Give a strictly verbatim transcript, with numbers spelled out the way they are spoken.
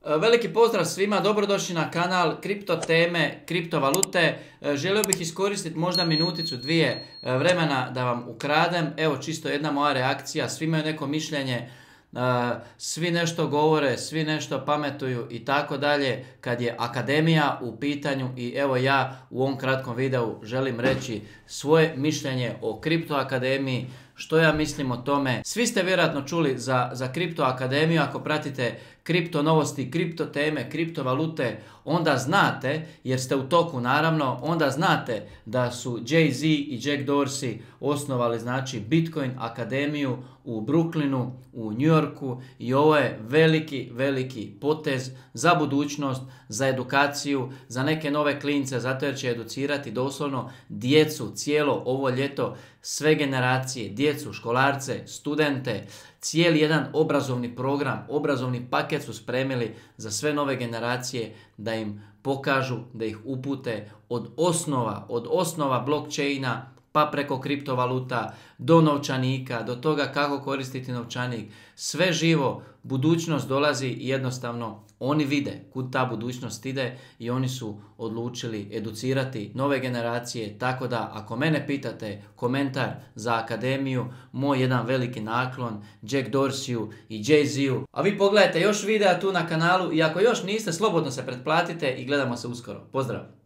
Veliki pozdrav svima, dobrodošli na kanal Kripto teme, kriptovalute. Želio bih iskoristiti možda minuticu, dvije vremena da vam ukradem. Evo čisto jedna moja reakcija, svi imaju neko mišljenje, svi nešto govore, svi nešto pametuju i tako dalje kad je akademija u pitanju. I evo ja u ovom kratkom videu želim reći svoje mišljenje o Kripto akademiji, što ja mislim o tome. Svi ste vjerojatno čuli za, za Kripto akademiju, ako pratite kripto novosti, kripto teme, kriptovalute, onda znate, jer ste u toku naravno, onda znate da su Jay-Z i Jack Dorsey osnovali znači Bitcoin akademiju u Brooklynu, u New Yorku, i ovo je veliki, veliki potez za budućnost, za edukaciju, za neke nove klince, zato jer će educirati doslovno djecu cijelo ovo ljeto, sve generacije, djecu, školarce, studente, cijeli jedan obrazovni program, obrazovni paket su spremili za sve nove generacije da im pokažu, da ih upute od osnova, od osnova blockchaina, pa preko kriptovaluta, do novčanika, do toga kako koristiti novčanik. Sve živo, budućnost dolazi i jednostavno oni vide kud ta budućnost ide i oni su odlučili educirati nove generacije. Tako da ako mene pitate komentar za akademiju, moj jedan veliki naklon Jack Dorseyu i Jay-Z-u. A vi pogledajte još videa tu na kanalu i ako još niste, slobodno se pretplatite i gledamo se uskoro. Pozdrav!